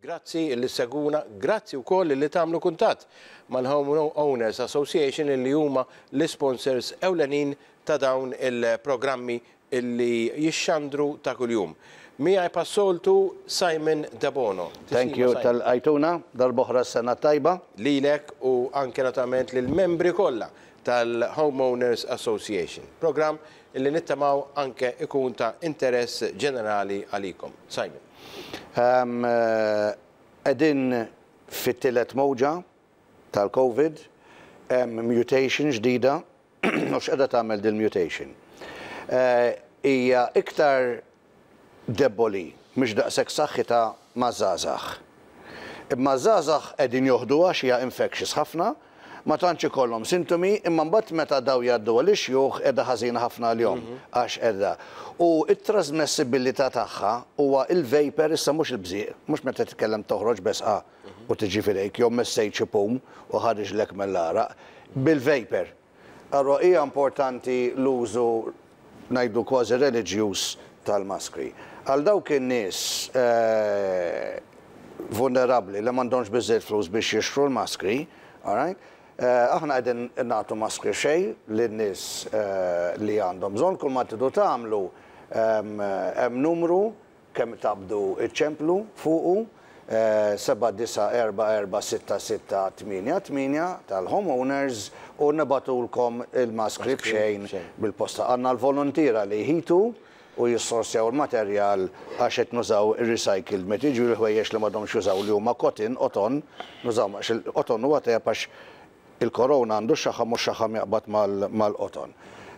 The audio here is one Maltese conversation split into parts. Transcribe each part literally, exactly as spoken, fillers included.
Grazzi li ssegwuna, grazzi wkoll li tagħmlu kuntatt mal-Home Owners Association, li huma l-sponsors ewlenin ta' dawn il-programmi illi jixxandru ta' kuljum. Miegħi bħas-soltu Simon Debono. Thank you tal-għajtuna, darb'oħra sena tajba. Lilek u anke naturalment lill-membri kollha tal-Homeowners Association. Program illi nittamaw anke ikun ta' interess ġenerali għalikom. Simon. Qegħdin fit-tielet mowġa tal-Covid, hemm mutation ġdida, u x'qegħda tagħmel din mutation? Hija iktar deboli, mhux daqshekk saħħitha maż-żgħażagħ. Imma żgħażagħ qegħdin joħduha għax hija infectious ħafna, ma tantx ikollhom sintomi, imma mbagħad meta daw jgħaddu għal ixjuħ qiegħda ħażina ħafna għalihom għax qiegħda. U t-trasmessibilità tagħha huwa il-vapor issa, mhux il-bżieq, mhux meta titkellem toħroġ besqa u tiġi fidejk jew messejt xi pum u ħariġlek mill-għaraq, bil-vapor. Allora hija importanti l-użu, ngħidu, kważi reliġjuż tal-maskri. Għal dawk in-nies vulnerabbli li m'għandhomx biżżejjed flus biex jixtru l-maskri, all right? Aħna qegħdin nagħtu maskri xejn lin-nies li għandhom bżonn. Kull ma tridu tagħmlu, hemm numru kemm taqbdu iċ-ċemplu fuqu, seba' disa' erba' erba' sitta sitta tmienja tmienja tal-homeowners, u nibagħtulkom il-maskri b'xejn bil-posta. Għandna l-volontiera li jħitu u jissorsjaw il-materjal għax qed nużaw ir-recycled material, ħwejjeġ li m'għadhomx jużaw li huma cotton, qoton, nużaw għax il-qoton huwa tajjeb għax il-korona għandu x-xaħam u x-xaħam jaqbad mal-qoton.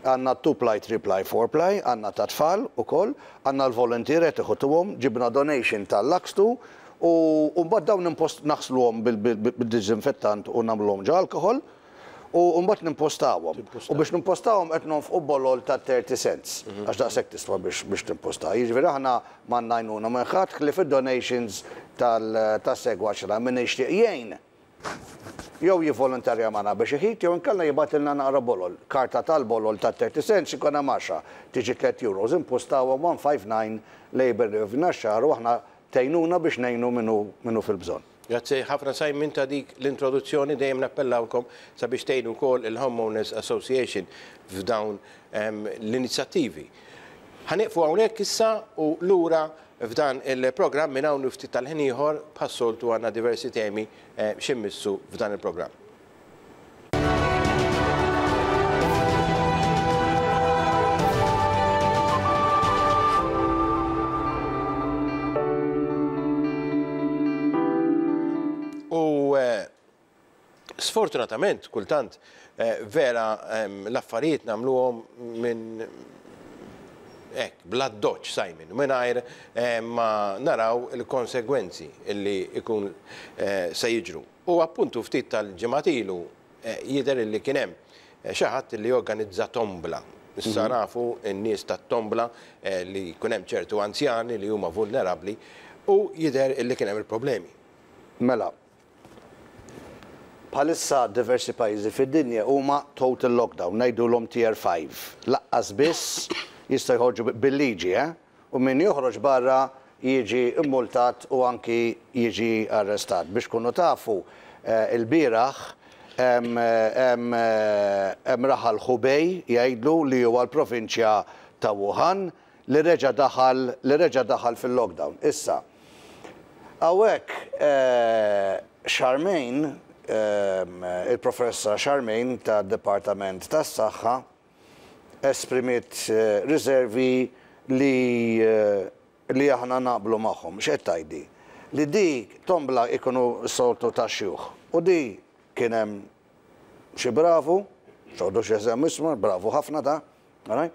Għandna two ply, three ply, four ply, għandna ta' tfal ukoll, għandna l-volontieri qed iħutuhom, ġibna donation tal-Laxtu u mbagħad dawn impost naħsluhom bil-diżinfettant u nagħmluhom ġo alkohol u mbagħad nimpostawhom. U biex nimpostawhom qed nonfqu bolol ta' thirty cents, għax daqshekk tiswa biex timposta. Jiġifieri aħna m'għandna għajnuna minn ħadd ħlief id-donations tas-segwaċ min jixtieq jgħin. Jew jivolontarja magħna biex iħit, jew inkella jibgħatilna naqra bolol. Karta tal-bolol ta' thirty cents ikun hemm għaxra, tiġi tliet euros, impostawhom one five nine Labour Review Naxxar u aħna tgħinuna biex ngħinu minnu fil-bżonn. Grazzi ħafna Simon ta' dik l-introduzzjoni, dejjem nappellawkom sabiex tgħinu wkoll il-Homeowners Association f'dawn l-inizjattivi. Ħa nieqfu hawnhekk issa u lura f'dan il-programm minn hawn ftit tal-ħin ieħor bħas-soltu għandna diversi temi x'immissu f'dan il-programm. U sfortunatament kultant vera l-affarijiet nagħmluhom minn hekk, bla doċ, Simon, mingħajr ma naraw il-konsegwenzi illi ikun se jiġru. U appuntu ftit tal-ġimgħat ilu jidher illi kien hemm xi ħadd li organizza tombla. Issa nafu n-nies tat-tombla li jkun hemm ċertu anzjani li huma vulnerabbli u jidher illi kien hemm il-problemi. Mela, bħalissa diversi pajjiżi fid-dinja huma total lockdown, ngħidulhom tier five. Laqqas biss jista' jħorġu bil-liġi, eh? U min joħroġ barra jiġi immultat u anki jiġi arrestat. Biex kunu tafu, il-bieraħ hemm raħal Hubei jgħidlu li huwa l-provinċja ta' Wuhan li reġa' daħal, li reġa' daħal fil-lockdown. Issa, hawnhekk Charmaine, il-professora Charmaine tad-Dipartiment tas-Saħħa esprimiet riservi li li aħna naqblu magħhom. X'qed tgħidli? Li di tombla ikunu soltu ta' xjuħ. U di kien hemm xi bravu, xogħdu xi eżem ismu, bravu ħafna ta', right?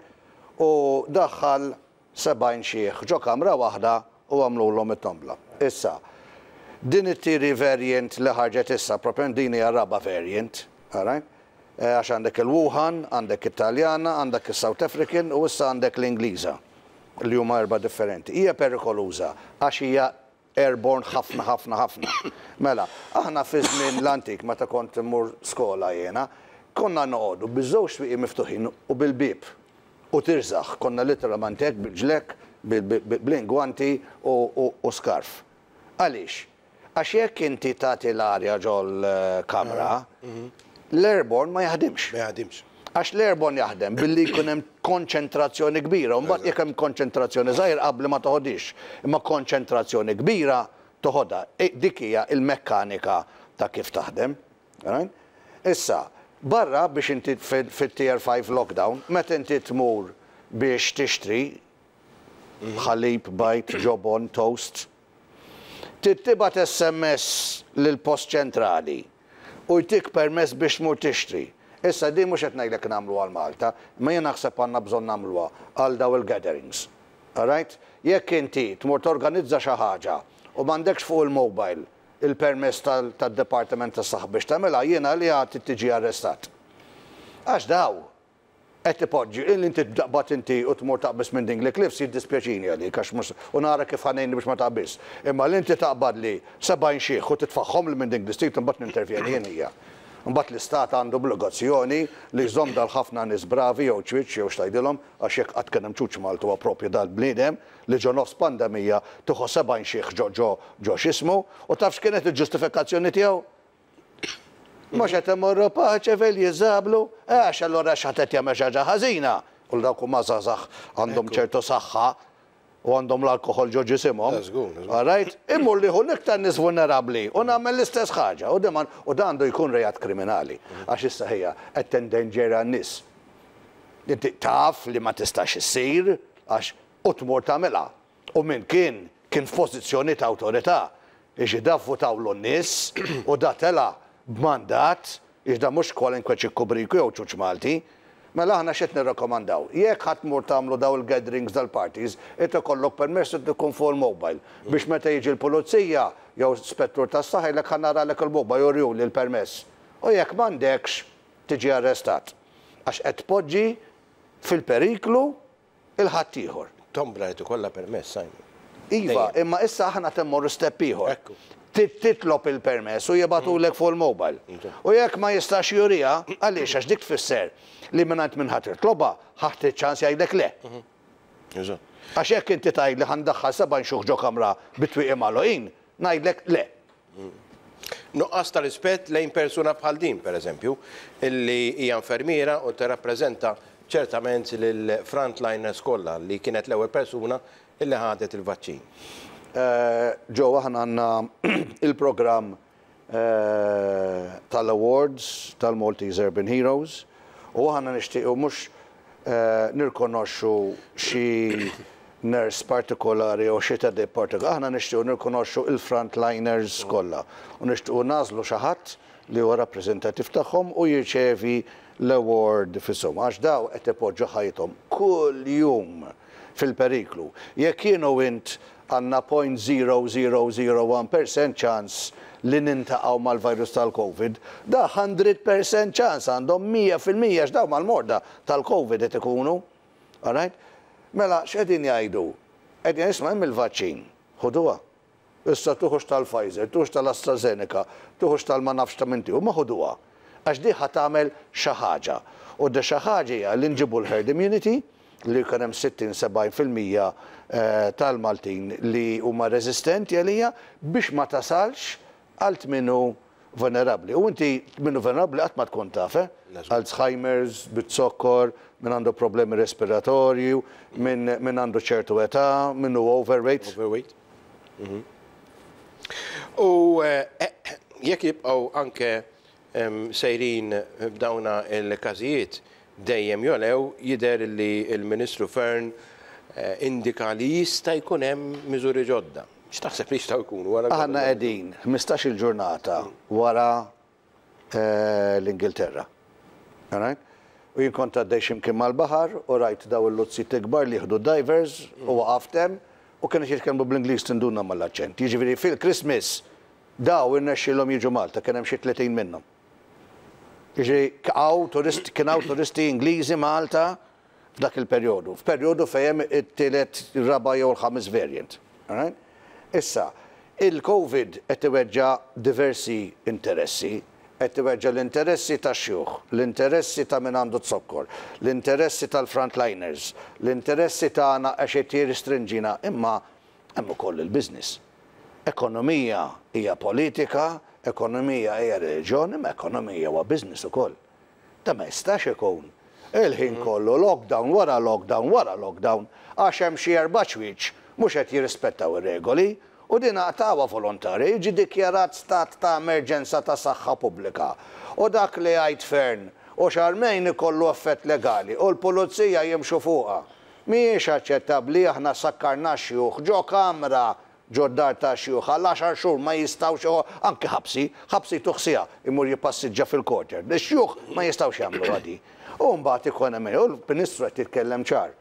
U daħħal sebgħin xieħ ġo kamra waħda u għamlulhom it-tombla. Issa, din it-tieni variant li ħarġet issa, propju din hija raba' variant, all right? Għax għandek il-Wuhan, għandek it-Taljana, għandek il-South African u issa għandek l-Ingliża, li huma erba' differenti. Hija perikoluża għax hija airborne ħafna, ħafna, ħafna. Mela, aħna fi żmien l-antik meta kont immur skola jiena, konna noqogħdu biż-żewġ swieqi miftuħin u bil-bieb u tirżaħ, konna literalment hekk bil-ġlek, bl-ingwanti u skarf. Għaliex? Għax jekk inti tagħti l-arja ġol-kamra, l-airborne ma jaħdimx. Ma jaħdimx. Għax l-airborne jaħdem billi jkun hemm konċentrazzjoni kbira, u mbagħad jekk hemm konċentrazzjoni żgħir qabli ma toħodix, imma konċentrazzjoni kbira toħodha. E, dik hija il-mekkanika ta' kif taħdem. Right? Issa, barra biex inti fit-tier five lockdown, meta inti tmur biex tixtri ħalib, bajd, ġobon, toast, tibgħat S M S lil-post ċentrali u jtik permess biex tmur tixtri. Issa di mhux qed ngħidlek nagħmlu għal Malta, ma jien naħseb għandna bżonn nagħmluha għal daw il-gatherings. Alright? Jekk inti tmur torganizza xi ħaġa u m'għandekx fuq il-mobile il-permess tad-Departiment tas-Saħħa biex tagħmilha, jiena li għad tiġi arrestat. Għax daw qed ipoġġi il inti taqbad inti u tmur taqbis minn Dingli Cliffs, jiddispjaċini għalik għax mhux u nara kif ħa ngħinni biex ma taqbis. Imma li inti taqbad li sebgħin xiħ u titfaħħom li minn Dingli Street, imbagħad nintervjeni jien hija. Mbagħad l-istat għandu obbligazzjoni li jżomm dal-ħafna nies bravi jew ċwieċ jew x'tgħidilhom, għax jekk qatt kien hemm ċuċ Maltu huwa propju dal-bniedem li ġo nofs pandemija tieħu sebgħin xiħ ġo ġo ġo x'ismu, u taf x'kienet il-ġustifikazzjoni tiegħu? Mhux qed imorru Paceville jiżablu, għax allura x'ħadd qed jagħmel xi ħaġa ħażina. U dawk huma żgħażagħ, għandhom ċertu saħħa u għandhom l-alkoħol ġo ġisimhom. All right? Immur li l-iktar nies vulnerabbli u nagħmel l-istess ħaġa. U deman u dan għandu jkun reat kriminali. Għax issa hija qed tendenġera n-nies. Inti taf li ma tistax issir għax u tmur tagħmilha. U min kien kien f'pożizzjoni ta' awtorità. Iġi da vvutawlu n-nies u da tela b'mandat, iġ da mhux kwalinkwe ċikkubriku jew ċuċ Malti. Mela aħna x'qed nirrakkomandaw? Jekk ħadd tmur tagħmlu daw il-gatherings dal-parties, inti kollok permess ikun fuq il-mobile. Biex meta jiġi l-pulizija jew spettur tas-saħħa jgħidlek, "Ħa naralek il-mobile," juriju li l-permess. U jekk m'għandekx, tiġi arrestat. Għax qed tpoġġi fil-periklu il-ħaddieħor. Tombla li ikollha permess, Simon. Iva, imma issa aħna temmorru step ieħor. Ekku. Titlob il-permess u jibagħtulek fuq il-mobile. U jekk ma jistax jurija, għaliex? Għax dik tfisser li mingħand minn ħadd tlobha ħadd ċans jgħidlek le. Eżatt. Għax jekk inti tgħid li ħa ndaħħal seba' nxuħ ġo kamra bit-twieqi magħluqin, ngħidlek le. Nuqqas ta' rispett lejn persuna bħal din, per eżempju, illi hija infermiera u tirrappreżenta ċertament lil frontliners kollha, li kienet l-ewwel persuna illi ħadet il-vaċċin. Ġo aħna għandna il-programm eh, tal-awards tal-Maltese Urban Heroes u aħna nixtiequ mhux eh, nirkonoxxu xi nurse partikolari u xi tedib partikolari, aħna nixtiequ nirkonoxxu il-frontliners kollha u nixtiequ nagħżlu xi ħadd li huwa rappreżentattiv tagħhom u jirċevi l-award f'isimhom, għax daw qed ipoġġu ħajthom kull jum fil-periklu. Jekk jien u int għandna zero punt zero zero zero wieħed fil-mija ċans li niltaqgħu mal-virus tal-Covid, da mija fil-mija ċans għandhom, mija fil-mija, x'daw mal-morda tal-Covid qed ikunu. Alright? Mela, x'qegħdin jgħidu? Qegħdin isma' hemm il-vaċċin, ħuduha. Issa tuħux tal-Pfizer, tuħux tal-AstraZeneca, tuħux tal-ma nafx ta' minti, u ma ħuduha. Għax di ħa tagħmel xi ħaġa. U da xi ħaġa hija li nġibu l-herd immunity, li jkun hemm sittin sebgħin fil-mija eh, tal-Maltin li huma reżistenti għalija biex ma tasalx għal min hu vulnerabli. U inti min hu vulnerabli qatt ma tkun taf, eh? Alzheimer's, bit-sokkor, min għandu problemi respiratorju, min min għandu ċertu età, min hu overweight. Overweight. Mhm. U eh, eh, jekk jibqgħu anke em, sejrin b'dawna il-każijiet dejjem jolew, jidher li il-Ministru Fearne eh, indika li jista' jkun hemm miżuri ġodda. X'taħseb li jistgħu jkunu wara? Aħna qegħdin ħmistax-il ġurnata wara eh, l-Ingilterra. Alright? U jien kont għaddej x'imkien mal-baħar u rajt daw il-luzzi kbar li jieħdu divers u waqaft hemm u kienu jitkellmu bl-Ingliż, tinduna mal-aċċent. Jiġifieri fil-Christmas daw irnexxielhom jiġu Malta, kien hemm xi tletin minnhom. Jiġifieri hawn turisti, kien hawn turisti Ingliżi Malta f'dak il-perjodu. F'perjodu fejn hemm it-tielet, ir-raba' jew il-ħames variant. Alright? Issa, il-Covid qed iweġġa diversi interessi, qed iweġġa l-interessi tax-xjuħ, l-interessi ta' min għandu zokkor, l-interessi tal-frontliners, l-interessi tagħna għax qed jirrestrinġina, imma hemm ukoll il-business. Ekonomija hija politika, ekonomija hija reliġjoni, ma ekonomija huwa business ukoll. Ta' ma jistax ikun il-ħin kollu lockdown wara lockdown wara lockdown għax hemm xi erba' ċwieċ mhux qed jirrispettaw ir-regoli u din aqtgħuha volontarja, jiġi dikjarat stat ta' emerġenza ta' saħħa pubblika. U dak li jgħid Fearne u Charmaine ikollu effett legali u l-pulizija jimxu fuqha. Mhijiex aċċettabbli. Aħna sakkarna xjuħ ġo kamra, ġo dar ta' xjuħ għal għaxar xhur, ma jistgħux, anki ħabsi, ħabsi tuħsija imur jippassiġġa fil-quarter. Ix-xjuħ ma jistgħux jagħmlu għadi. U mbagħad ikun hemm u l-Ministru qed jitkellem ċar.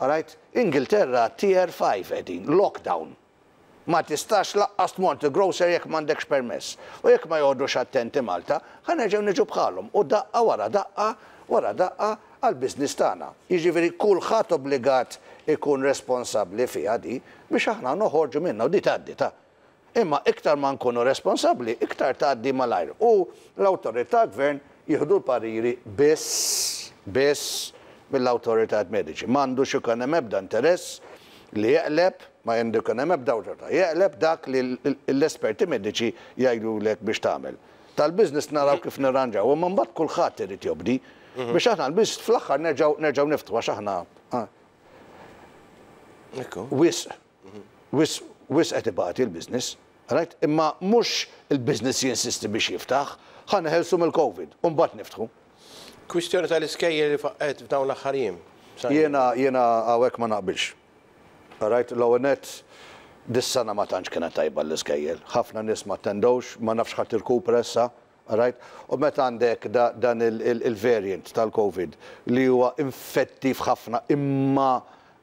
Alright? Ingilterra tier five qegħdin, lockdown. Ma tistax lanqas tmur grocer jekk m'għandekx permess. U jekk ma joqogħdux attenti Malta, ħa nerġgħu niġu bħalhom u daqqa wara daqqa wara daqqa għal-biznis tagħna. Jiġifieri kulħadd obbligat ikun responsabbli fiha di biex aħna noħorġu minna u di tgħaddi ta'. Imma iktar ma nkunu responsabbli, iktar tgħaddi malajr. U l-awtorità, gvern jieħdu l-pariri biss biss mill-awtorità mediċi. M'għandux ikun hemm ebda interess li jeqleb, ma għandu jkun hemm ebda awtorità jeqleb dak li l-esperti mediċi jgħidulek biex tagħmel. Tal-business naraw kif nirranġaw, imma mbagħad kulħadd irid jobdi biex aħna l-business fl-aħħar nerġgħu nerġgħu niftħu għax aħna wisq, wisq, wisq qed ibati l-business, right? Imma mhux il-business jinsisti biex jiftaħ, ħa neħelsu mill-Covid, u mbagħad niftħu. Kwistjoni tal-iskejjel li faqqet f'dawn l-aħħar jiem. Jiena jiena hawnhekk ma naqbilx. Right, l-ewwel nett dis-sena ma tantx kienet tajba l-iskejjel. Ħafna nies ma attendewx, ma nafx ħadd irkupra issa. Right? U meta għandek dan il-variant tal-Covid li huwa infettiv ħafna imma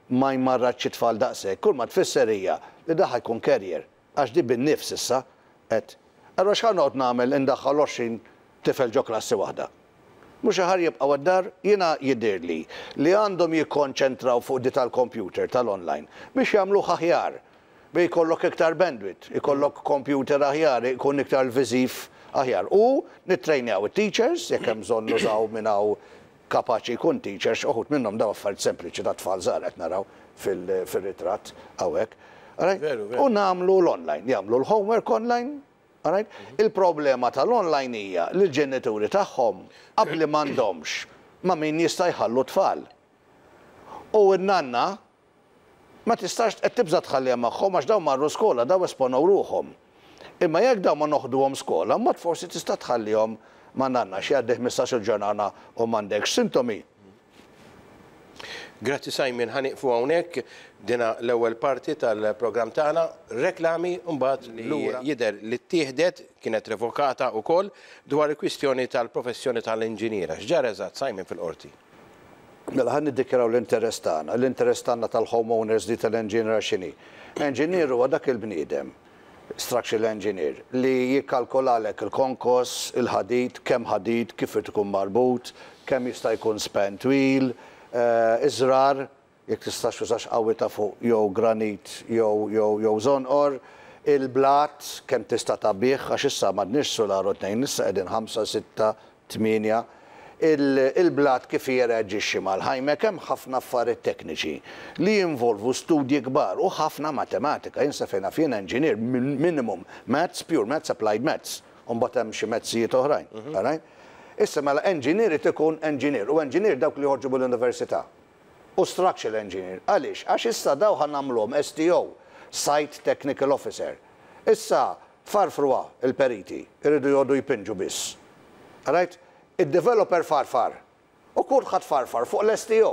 ma jmarradx it-tfal daqshekk, kull ma tfisser hija li da ħa jkun carrier għax di bin-nifs issa qed. Allura x'ħa noqgħod nagħmel indaħħal għoxrin tifel ġo klassi waħda? Mhux aħjar jibqgħu għad-dar? Jiena jidhirli li għandhom jikkonċentraw fuq di tal-computer, tal-online, biex jagħmluh aħjar. Biex jkollok iktar bandwidth, ikollok computer aħjar, ikun iktar viżiv aħjar. U nittrejnjaw it-teachers, jekk hemm bżonn nużaw minn hawn kapaċi jkun teachers, uħud minnhom daw affarijiet sempliċi ta' tfal żgħar qed naraw fil-ritratt hawnhekk. U nagħmlu l-online, jagħmlu l-homework online. Alright? Il-problema tal-online hija li l-ġenituri tagħhom qabli m'għandhomx ma min jista' jħallu tfal. U n-nanna ma tistax, qed tibża tħallija magħhom għax daw marru skola, daw esponaw ruħhom. Imma jekk daw ma noħduhom skola, mod forsi tista' tħallihom ma' nanna xi għaddih ħmistax-il ġurnata u m'għandekx sintomi. Grazzi Simon, ħa nieqfu hawnhekk dina l-ewwel parti tal-programm tagħna, reklami, mbagħad li jidher li ttieħdet kienet revokata wkoll dwar il-kwistjoni tal-professjoni tal-inġiniera. X'ġara eżatt, Simon, fil-qorti? Mela ħa niddikjaraw l-interess tagħna, l-interess tagħna tal-homeowners di tal-engineer x'inhi. Engineer huwa dak il-bniedem, structural engineer, li jikkalkolalek il-konkos, il-ħadid, kemm ħadid, kif irid ikun marbut, kemm jista' jkun span twil, eh, iżrar, jekk tistax tużax qawwi ta' fuq jew granit jew jew jew żonqor, il-blat kemm tista' tgħabbih, għax issa m'għadniex sular u tnejn, issa qegħdin ħamsa, sitta, tmienja. Il-blat kif jirreaġixxi mal-ħajmek, hemm ħafna affarijiet tekniċi li jinvolvu studji kbar u ħafna matematika. Jien sa fejn naf jien engineer minimum maths, pure maths, applied maths, u mbagħad hemm xi mezzijiet oħrajn. Alright? Issa mela engineer irid ikun engineer u engineer dawk li joħorġu mill-università. U structural engineer. Għaliex? Għax issa daw ħa nagħmluhom S T O, Site Technical Officer. Issa farfruha il-periti, irridu joqogħdu jpinġu biss. Alright? Il-developer farfar. U kulħadd farfar fuq l-S T O.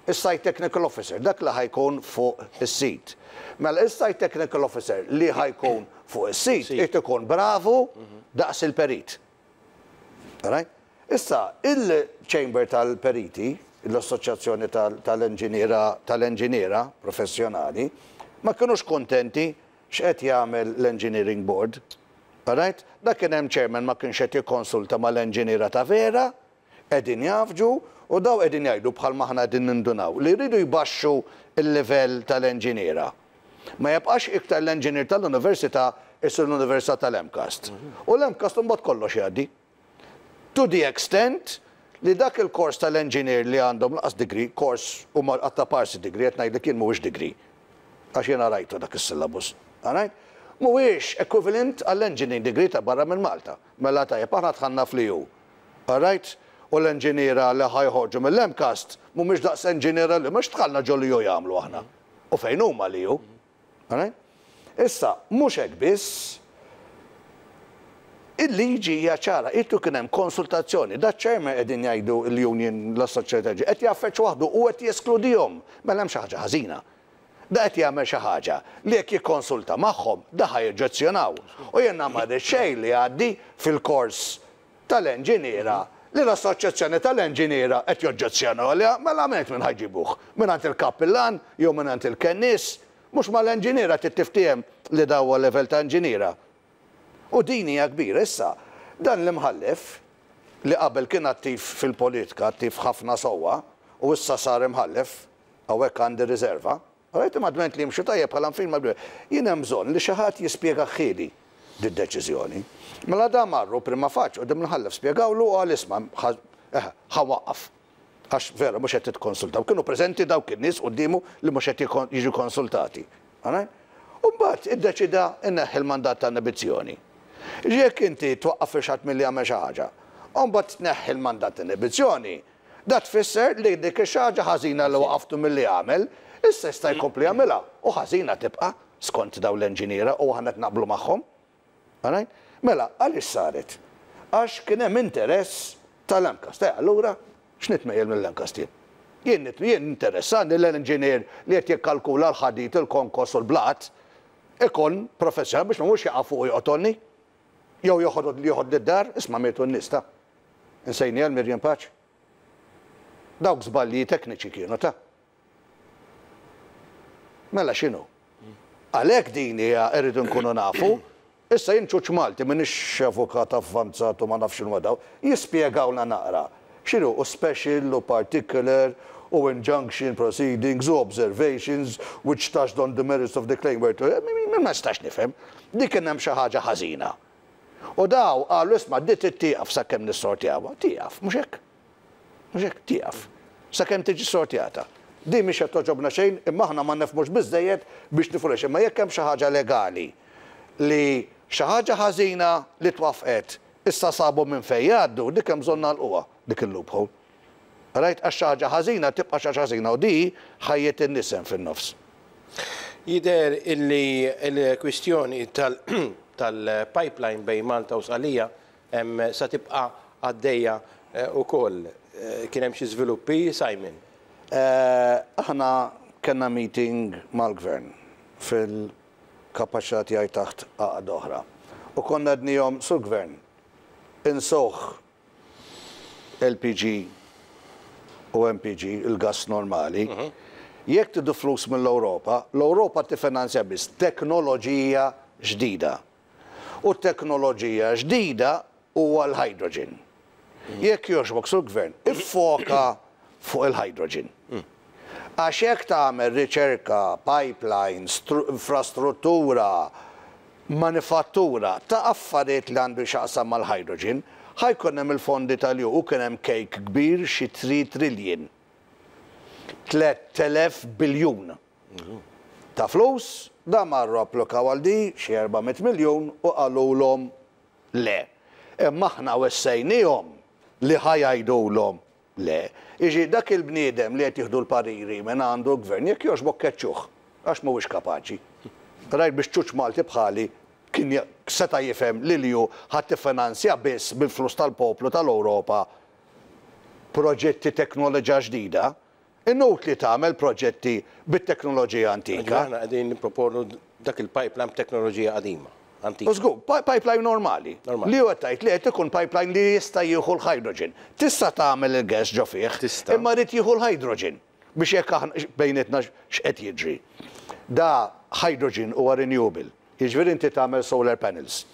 Is-Site Technical Officer, dak li ħa jkun fuq is-sit. Mela is-Site Technical Officer li ħa jkun fuq is-sit irid ikun bravu daqs il-perit. Alright? Issa, il-Chamber tal-Periti, l-Assoċjazzjoni tal-Enġiniera tal-Enġiniera professjonali, ma kienux kontenti x'qed jagħmel l-Engineering Board. Alright? Dak kien hemm chairman ma kienx qed jikkonsulta mal-enġiniera ta' vera, qegħdin jafġu u daw qegħdin jgħidu bħal maħna qegħdin nindunaw li jridu jbaxxu il-livell tal-enġiniera. Ma jibqax iktar l-enġinier tal-università, issir l-Università tal-MCAST. U l-MCAST mbagħad kollox jgħaddi. To the extent li dak il-kors tal-engineer li għandhom lanqas degree, kors u għatta parsi degree, qed ngħidlek jien mhuwiex degree. Għax jiena rajtu dak is-syllabus. Alright? Mhuwiex equivalent għall-engineering degree ta' barra minn Malta. Mela tajjeb, aħna dħalna fl-E U. All right? U l-enġiniera li ħa joħorġu mill-MCAST mhumiex daqs enġiniera li mhux dħalna ġo l-E U jagħmlu aħna. U fejn huma l-E U? All right? Issa, mhux hekk biss, il-liġi hija ċara, ittu kien hemm konsultazzjoni, da chairman qegħdin jgħidu l-union, l-assoċjata qed jaffeċ waħdu u qed jeskludihom. Mela hemm xi ħaġa ħażina. Da qed jagħmel xi ħaġa li jekk jikkonsulta magħhom da ħa joġġezzjonaw. U jiena ma rrid xejn li għaddi fil-kors tal-enġiniera li l-assoċjazzjoni tal-enġiniera qed joġġezzjonaw għaliha, mela għamilt minn ħa jġibuh. Mingħand il-kappillan jew mingħand il-kennis, mhux mal-enġiniera tittiftiem li dawa level ta' enġiniera. U din hija kbira issa. Dan l-imħallef li qabel kien attiv fil-politika, attiv ħafna sewwa, u issa sar imħallef, hawnhekk għandi riserva, għarajt imma dment li jimxu tajjeb bħala film. Jien hemm bżonn li xi ħadd jispjega ħili d-deċiżjoni. Mela da marru prima facie u dim l-imħallef, spjegawlu u qal, "Isma', ħa waqqaf. Għax vera mhux qed titkonsultaw." Kienu preżenti dawk in-nies quddiemu li mhux qed jiġu konsultati. U mbagħad iddeċida inneħħi l-mandat ta' inibizzjoni. Jekk inti twaqqaf xi ħadd milli jagħmel xi ħaġa, u mbagħad tneħħi l-mandat ta' inibizzjoni, da tfisser li dik ix-ħaġa ħażina li waqaftu milli jagħmel, issa jista' jkompli jagħmilha u ħażina tibqa' skont daw l-enġiniera u aħna naqblu magħhom. Mela, għaliex saret? Għax kien hemm interess tal-MCAST. Eh, allura, x'nitmejjel mill-MCAST jien? Jien jien interessani l-enġinier li qed jikkalkula l-ħadid, il-konkos u l-blat ikun professjonal biex ma mhux jaqa' fuq joqtolni. Jew joħod li joħod d-dar, isma', mietu n-nies ta'. Insejni għal Miriam Pace. Dawk żbalji tekniċi kienu ta'. Mela x'inhu? Għalhekk din hija rridu nkunu nafu. Issa jien ċuċ Malti, m'iniex avukat avvanzat u ma nafx x'inhu daw, jispjegawna naqra. X'inhu u special u particular u injunction proceedings u observations which touched on the merits of the claim were to. Ma nistax nifhem. Dik kien hemm xi ħaġa ħażina. U daw qalu, "Isma', dit tieqaf sakemm nissortjawha." Tieqaf, mhux hekk. Mhux hekk, tieqaf. Sakemm tiġi sortjata. Di mhix qed toġobna xejn, imma aħna ma nifhmux biżejjed biex nifhmu, imma jekk hemm xi ħaġa legali li xi ħaġa ħażina li twafqet issa sabu minn fejn jgħaddu, dik hemm bżonn nagħlquha dik il-loophole. Rajt, għax xi ħaġa ħażina tibqa' xi ħaġa ħażina u di ħajjet in-nies hemm fin-nofs. Jider illi il-kwistjoni tal-pipeline bejn Malta u Sqallija sa tibqa' għaddejja ukoll. Kien hemm xi żviluppi, Simon? Eh, aħna kellna meeting mal-gvern fil-kapaċità tiegħi taħt għaqda oħra. U konna għednielhom, "Sur gvern, insewh L P G u M P G, il-gas normali, jekk tridu flus mill-Europa, l-Europa tifinanzja biss teknoloġija ġdida. U teknoloġija ġdida huwa l-hydrogen. Jekk jogħġbok, sur gvern, iffoka fuq il-hydrogen. Għax jekk tagħmel riċerka, pipelines, infrastruttura, manifattura ta' affarijiet li għandu x'jaqsam mal-hydrogen, ħa jkun hemm il-fondi tal-E U u kien hemm cake kbir xi tliet trillion. tliet elef biljun ta' flus, da marru applikaw għal di xi erba' mitt miljun u qalulhom le. Imma aħna wessejnihom li ħa jgħidulhom le. Iġi dak il-bniedem li qed jieħdu l-pariri minn għandu l-gvern, jekk jogħġbok keċċuh, għax mhuwiex kapaċi. Rajt biex ċuċ Malti bħali kien seta' jifhem li li hu ħadd tiffinanzja biss bil-flus tal-poplu tal-Ewropa proġetti teknoloġija ġdida. Inutli tagħmel proġetti bit-teknoloġija antika. Aħna qegħdin nipproponu dak il-pipeline b'teknoloġija qadima. Antika. Żgur, pipeline normali. Li huwa tajt li qed ikun pipeline li jista' jieħu l-hydrogen. Tista' tagħmel il-gas ġo fih, imma rid jieħu l-hydrogen biex jekk aħna bejnietna x'qed jiġri. Da hydrogen huwa renewable. Jiġifieri inti tagħmel solar panels.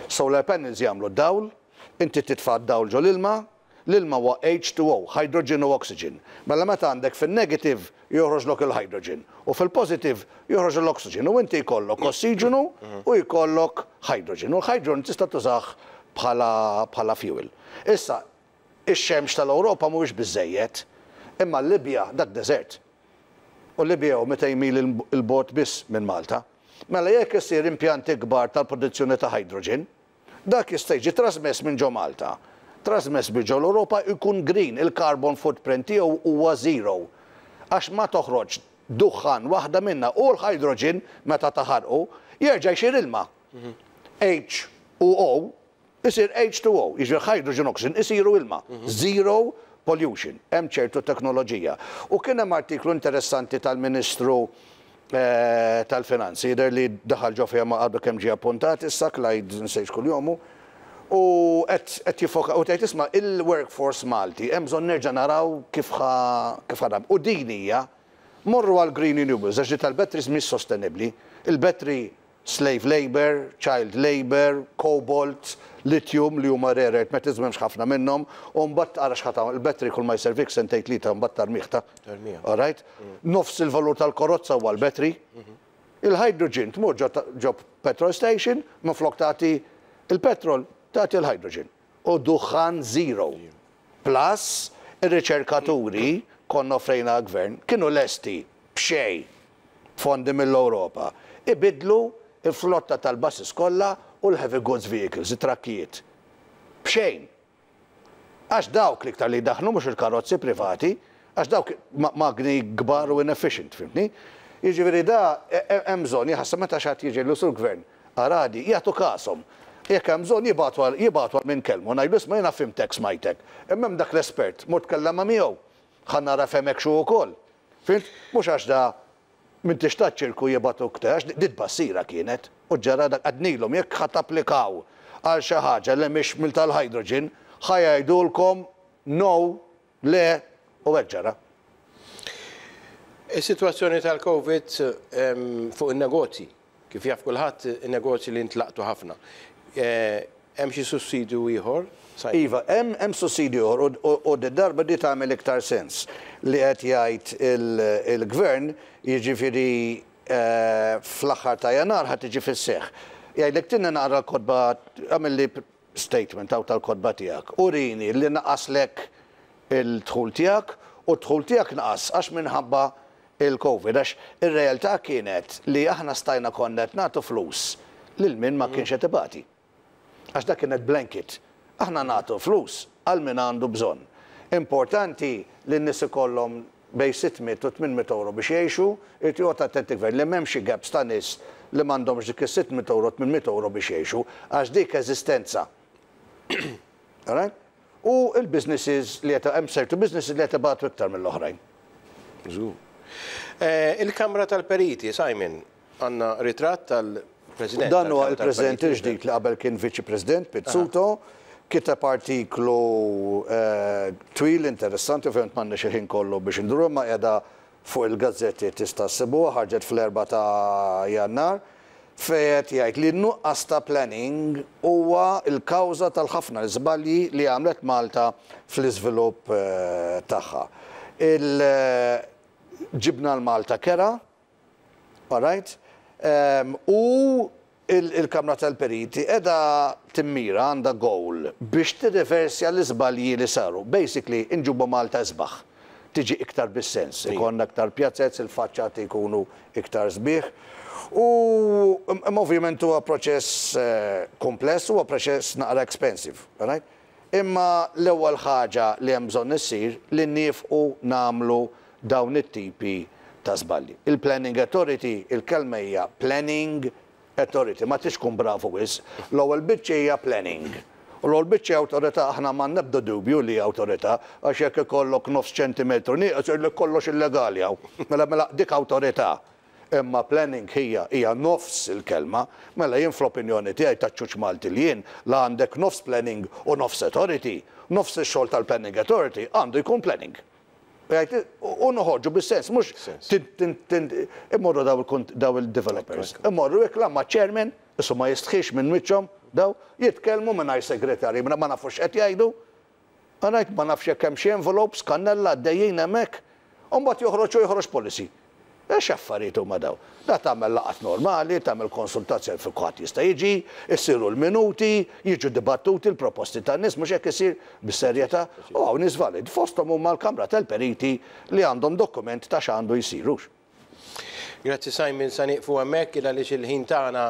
Solar panels jagħmlu dawl, inti titfa' dawl ġol ilma, l-ilma huwa H two O, hydrogen u oxygen. Mela meta għandek fil-negative joħroġlok il-hydrogen u fil-positive joħroġ l-oxygen u inti jkollok ossiġenu u jkollok hydrogen. U l-hydrogen tista' tużah bħala bħala fuel. Issa, ix-xemx tal-Ewropa mhuwiex biżejjed, imma l-Libja dak desert. U Libja hu mitejn mil il-bogħod biss minn Malta. Mela jekk isir impjanti kbar tal-produzzjoni ta' hydrogen, dak jista' jiġi trasmess minn ġo Malta. Trasmess bi ġo l-Ewropa jkun green, il-carbon footprint tiegħu huwa zero. Għax ma toħroġ duħħan waħda minna u l-hydrogen meta taħarqu jerġa' jsir ilma. H u O isir H two O, jiġri hydrogen, oxygen isiru ilma. Zero pollution, hemm ċertu teknoloġija. U kien hemm artiklu interessanti tal-Ministru eh, tal-Finanzi, jidher li daħal ġo fiha ma għadu kemm ġie appuntat issa, Clyde, nsejt kuljomu, u qed jiffoka u tgħid, isma', il-workforce Malti hemm bżonn nerġa' naraw kif ħa kif ħadam. U din hija morru għal green renewables, għax di tal-batteries mhix sostenibbli. Il-battery, slave labor, child labor, cobalt, lithium li huma rare earth metals, m'hemmx ħafna minnhom, u mbagħad tara x'ħata il-battery kull ma jservik sentejn, tlieta, mbagħad tarmih ta'. Tarmiha. All right? Nofs il-valur tal-karozza huwa l-battery. Il-hydrogen tmur ġo ġo petrol station, minflok tagħti il-petrol, tagħti il-hydrogen. U duħħan zero. Plus, ir-riċerkaturi konna offrejna gvern kienu lesti b'xejn fondi mill-Ewropa. Ibidlu il-flotta tal-buses kollha u l-heavy goods vehicles, it-trakkijiet. B'xejn. Għax dawk l-iktar li daħnu, mhux il-karozzi privati, għax dawk ma- magni kbar u inefficient, fhimtni? Jiġifieri da e- e- hemm bżonn jaħseb meta xi ħadd jiġi l sur gvern aradi jagħtu kashom. Jekk hemm bżonn jibgħatu għal jibgħatu għal min kellmu, ngħidu, "Isma', jiena fhimtek, smajtek. Imma hemm dak l-espert, mur tkellem ma' miegħu. Ħa nara fehmek xu wkoll." Fhimt? Mhux għax da minn tixtat ċirku jibgħatu ktax, dit bassira kienet, u ġara dak għednielhom, jekk ħa tapplikaw għal xi ħaġa li mhix mil tal-hydrogen, ħa jgħidulkom no, le, u hekk ġara. Is-sitwazzjoni tal-Covid em, fuq in-negozji, kif jaf kulħadd, in-negozji li ntlaqtu ħafna. Eh, Hemm xi sussidju ieħor? Simon? Iva, hemm hemm sussidju ieħor u- u u darba di tagħmel iktar sens li qed jgħid il- il-gvern, jiġifieri eh, fl-aħħar ta' Jannar ħa tiġi fis-seħħ. Jgħidlek tinna naqra l-kotba, għamil li statement hawn tal-kotba tiegħek. Urini li naqaslek il-dħul tiegħek u d-dħul tiegħek naqas għax minħabba il-Covid, għax ir-realtà kienet li aħna stajna konna qed nagħtu flus lil min ma kienx qed ibati. Għax dak kienet blanket. Aħna nagħtu flus għal min għandu bżonn. Importanti li n-nies ikollhom bejn sitt mitt u tmien mitt euro biex jgħixu, irid joqgħod attenti gvern li m'hemmx gaps ta' nies li m'għandhomx dik is-sitt mitt euro, tmien mitt euro biex jgħixu, għax dik eżistenza. Alright? U il-businesses li qed hemm certu businesses li qed ibatu iktar mill-oħrajn. Żgur. Eh, Il-Kamra tal-Periti, Simon, għandna ritratt tal-President. Dan huwa tal-Kamra il-President tal-Periti. il-ġdid li qabel kien Viċi President, Pizzuto, kiteb artiklu eh, twil interessanti, ovvjament m'għandniex il-ħin kollu biex induru, ma qiegħda fuq il-gazzetti tista' ssibuha, ħarġet fl-erba ta' Jannar, fejn qed jgħid li nuqqas ta' planning huwa l-kawża tal-ħafna żbalji li għamlet Malta fl-iżvilupp eh, tagħha. Il- ġibna l-Malta kera, all right? Um, u il- il-Kamra tal-Periti edha timmira, għandha goal biex tirreversja l-iżbalji li saru. Basically, inġibu Malta isbaħ. Tiġi iktar bis-sens, ikonna iktar pjazzez, il-faċċati jkunu iktar sbieħ. U im- ovvjament huwa proċess eh, kompless, huwa proċess naqra expensive, right? Imma l-ewwel ħaġa li hemm bżonn issir li nifqu nagħmlu dawn it-tipi ta' żbalji. Il-Planning Authority, il-kelma hija Planning Authority, ma tix tkun bravu wisq. L-ewwel biċċa hija planning. U l-ewwel biċċa awtorità, aħna ma nebda dubju li awtorità, għax jekk ikollok nofs ċentimetru nieqes jgħidlek kollox illegali hawn. Mela mela dik awtorità. Imma planning hija hija nofs il-kelma, mela jien fl-opinjoni tiegħi ta' ċuċ Malti li jien, la għandek nofs planning u nofs authority, nofs ix-xogħol tal-Planning Authority għandu jkun planning. Jgħid, u noħorġu bis-sens, mhux immorru daw il- daw il-developers. Immorru ma' chairman, issu ma jistħix minn wiċċhom, daw jitkellmu mingħajr segretarji, ma nafux qed jgħidu. Għanajt ma nafx jekk hemm xi envelopes, kannella għaddejjin hemmhekk, u mbagħad joħroġ u joħroġ policy. Ex affarijiet huma daw? Da tagħmel laqat normali, tagħmel konsultazzjoni fi kulħadd jista' jiġi, issiru l-minuti, jiġu dibattuti l-proposti tan-nies, mhux hekk isir bis-serjetà, u hawn nies valid. Fosthom huma l-Kamra tal-Periti li għandhom dokument ta' x'għandu jsirux. Grazzi, Simon, sa nieqfu hemmhekk għaliex il-ħin tagħna